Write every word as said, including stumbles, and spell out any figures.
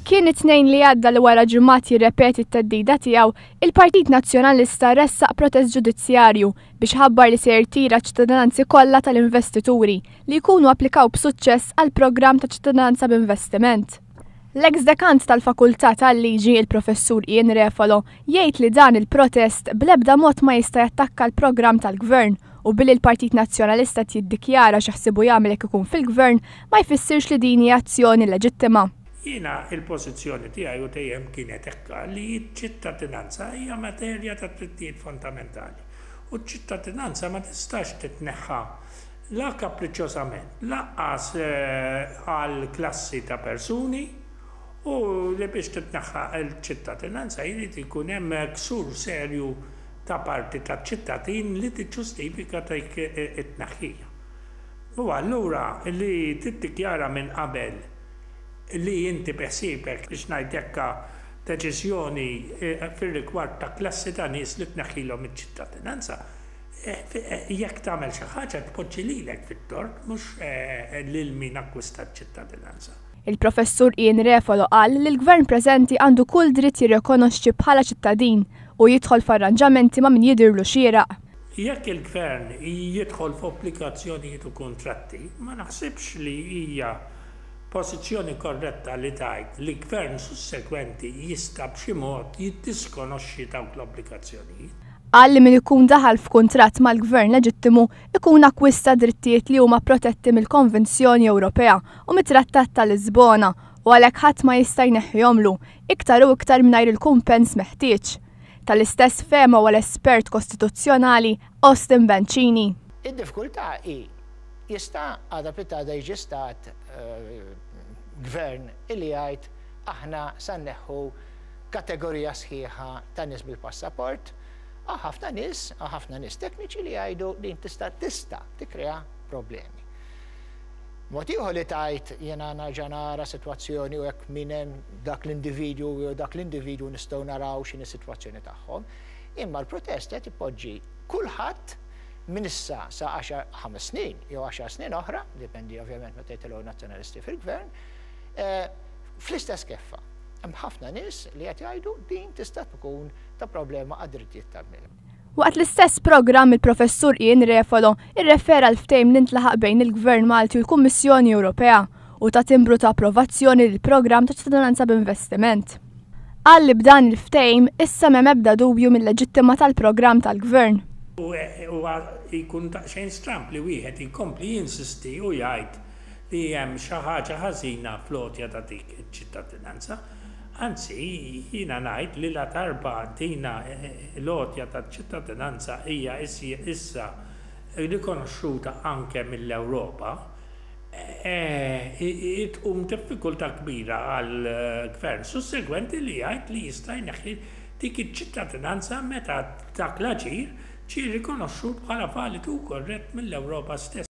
Kien it-Tnejn li għadda li wara ġimgħat jirrepeti t-theddida tiegħu, il-Partit Nazzjonalista ressaq protest ġudizzjarju biex ħabbar li se jirtira ċittadinanzi kollha tal-investituri li jkunu applikaw b'suċċess għal programm ta' ċittadinanza b'investiment. L-ex dekant tal-Fakultà tal-Liġi, il-Professur Ian Refalo, jgħid li dan il-protest bl-ebda mod ma jista' jattakka l-programm tal-Gvern u billi l-Partit Nazzjonalista jiddikjara x'jaħsibu jagħmel jekk ikun fil-Gvern ma jfissirx li din hija azzjoni leġittima. Jiena il-pożizzjoni tiegħi u dejjem kienet hekk li ċ-ċittadinanza hija materja ta' drittijiet fondamentali. U ċ-ċittadinanza ma tistax titneħħa la kapriċċjożament, lanqas għal klassi ta' persuni, u li biex titneħħa l-ċittadinanza jrid ikun hemm ksur serju ta' parti taċ-ċittadin li tiġġustifika dik it-tneħħija. U allura li tiddikjara minn qabel li inti beħsiebek biex ngħid deċiżjoni fir-rigward ta' klassi ta' nies li tneħħilhom iċ-ċittadinanza, jekk tagħmel xi ħaġa tpoġġi lilek fit-tort, mhux lil min akkwista ċ-ċittadinanza. Il-Professur Ian Refalo qal li l-Gvern preżenti għandu kull dritt jirrikonoxxi bħala ċittadin u jidħol f'arranġamenti ma' min jidhirlu xieraq. Jekk il-Gvern jidħol f'obbligazzjonijiet u kontratti, ma naħsibx li hija pożizzjoni korretta li tgħid li gvern sussekwenti jista' b'xi mod jiddiskonoxxi dawk l-obbligazzjonijiet. Qal li min ikun daħal f'kuntratt mal-Gvern leġittimu ikun akkwista drittijiet li huma protetti mill-Konvenzjoni Ewropea u mit-Trattat ta' Lisbona u għalhekk ħadd ma jista' jneħħihomlu iktar u iktar mingħajr il-kumpens meħtieġ. Tal-istess fehma huwa l-espert kostituzzjonali Austin Bencini. Id-diffikultà hi jista' għada pitgħada jiġi stat gvern illi jgħid aħna sa nneħħu kategorija sħiħa ta' nies bil-passaport, ħafna nies, ħafna nies tekniċi li jgħidu din tista' tista' tikkrea problemi. Mod ieħor li tajt jiena nerġa' nara sitwazzjoni u jekk min hemm dak l-individwu jew dak l-individwu nistgħu naraw x'inhi s-sitwazzjoni tagħhom. Imma l-protest qed ipoġġi kulħadd minn issa sa ħames snin jew għaxar snin oħra, dipendi ovvjament meta jitilgħu nazzjonalisti fil-gvern, fl-istess keffa. Hemm ħafna nies li qed jgħidu din tista' tkun ta' problema għad-drittijiet tal-bniedem. Waqt l-istess programm il-Professur Ian Refalo irrefera l-ftehim li ntlaħaq bejn il-Gvern Malti u l-Kummissjoni Ewropea u ta timbru ta' approvazzjoni lill-programm ta' ċittadinanza b'investiment. Qal li b'dan il-ftehim issa m'hemm ebda dubju mill-leġittima tal-programm tal-Gvern. U jkun daqsxejn stramb li wieħed jkompli jinsisti u jgħid li hemm xi ħaġa ħażina fl-għotja ta' dik iċ-ċittadinanza. Anzi, jiena ngħid li la darba dina l-għotja ta' ċittadinanza hija issa rikonoxxuta anke mill-Ewropa, tqum diffikultà kbira għal gvern sussegwenti li jgħid li jista' jneħħi dik iċ-ċittadinanza meta dak l-aġir ġie rikonoxxut bħala validu u korrett mill-Ewropa stess.